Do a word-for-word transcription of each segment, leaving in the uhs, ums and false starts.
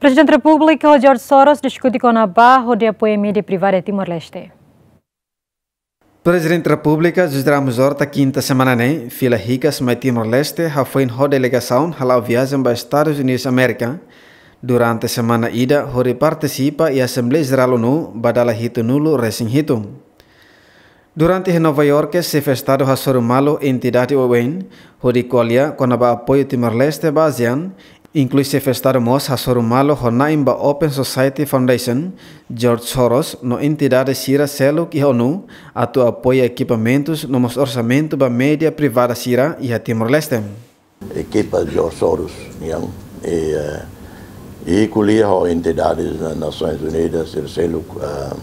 Prezidente Repúblika George Soros diskute kona-ba hodi apoia mídia privada Timor-Leste. Prezidente Repúblika José Ramos Horta kinta semana ne'e fila hikas mai Timor-Leste hafoin ho delegasaun hala'o viajen ba Estadus Unidus Amérika durante semana ida hodi partisipa iha Asembleia Jerál ONU ba dala hitunulu resin hitu. Durante iha Nova Iorke, Xefe Estadu hasoru malu entidade oioin hodi ko'alia kona-ba apoiu Timor-Leste ba ASEAN, inklui Xefe Estadu mós hasoru malu ho na'in ba Open Society Foundation, George Soros no entidade sira seluk iha ONU atu apoia ekipamentus no mós orsamentu ba mídia privada sira iha Timor-Leste. Ekipa George Soros nian, i, eh, i ko'alia ho entidades Nasoins Unidas sira seluk, eh,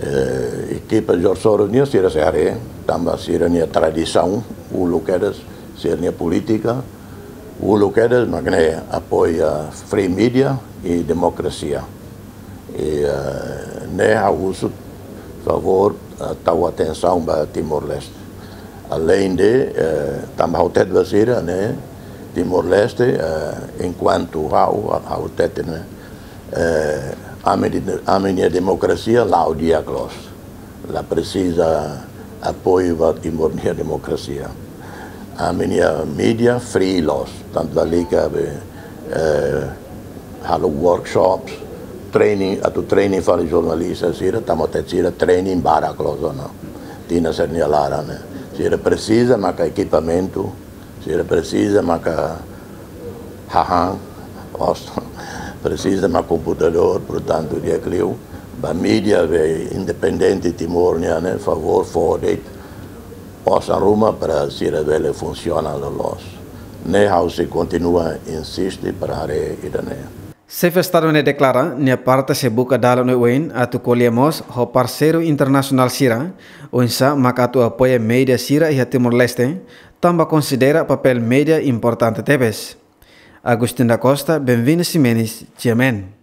eh, ekipa George Soros nian sira sei haree, tanba sira-nia tradisaun uluk kedas, sira-nia polítika uluk kedas mak ne'e apoia free media i demokrasia. I, eh, ne'e ha'u husu favór, eh, tau atensaun ba Timor-Leste. Aleinde, eh, tanba ha'u hatete ba sira ne'e, Timor-Leste, eh, enkuantu ha'u, ha'u hatete ne'e, eh, ami di-, ami-nia demokrasia la'o di'ak loos. La presiza apoiu ba Timor nia demokrasia. Ami-nia mídia free loos, tantu lalika be, eh, halo workshops, training, atu training fali jornalista sira, tanba hatete sira training barak loos ona. Tinan sira-nia laran ne'e. Sira presiza maka ekipamentu, sira presiza maka hahán, os, presiza maka komputadór, portantu di'ak liu ba mídia be independente Timor nian ne'e, favór fó de'it osan ruma para sira bele funsiona loloos. Ne'e ha'u sei kontinua insiste para haree ida-ne'e. Xefe Estadu ne'e deklara nia parte sei buka dalan oioin atu ko'alia mós ho parseiru internasionál sira, oinsá maka atu apoia mídia sira iha Timor-Leste, tanba konsidera papél mídia importante tebes. Agustin da Costa, Benvino Ximenes, G M N.